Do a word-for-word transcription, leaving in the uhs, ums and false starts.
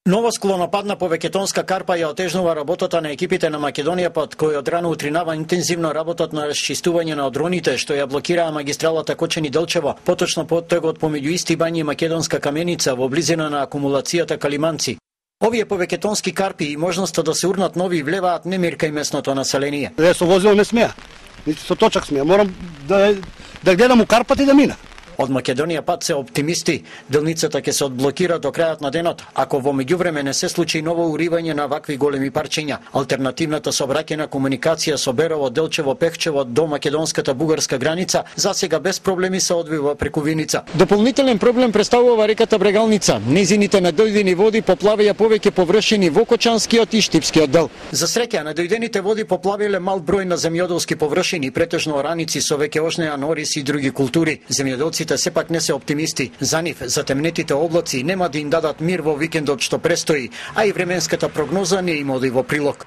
Нова склонопадна повеќетонска карпа ја отежнува работата на екипите на Македонија пат, кои од рано утринава интензивно работат на расчистување на одроните што ја блокираа магистралата Кочани-Делчево, поточно поттегот помеѓу Исти бањи и Македонска каменица во близина на акумулацијата Калиманци. Овие повеќетонски карпи и можноста да се урнат нови влеваат немир кај местното население. Ја со возило не смеа, нити со точак смеа, морам да да гледам у карпат и да мина. Од Македонија пат се оптимисти, делницата ќе се одблокира до крајот на денот, ако во меѓувреме не се случи ново уривање на вакви големи парчиња. Алтернативната сообраќајна комуникација со Берово, Делчево, Пехчево до македонската бугарска граница засега без проблеми се одвива преку Виница. Дополнителен проблем представува реката Брегалница. Незините надојдени води поплавија повеќе површини во Кочанскиот и Штипскиот дел. За среќа, надојдените води поплавиле мал број на земјоделски површини, претежно ораници со веќе ошнеа орис и други култури. Земјоделците сепак не се оптимисти. За нив, затемнетите облаци нема да им дадат мир во викендот што престои, а и временската прогноза не им оди во прилог.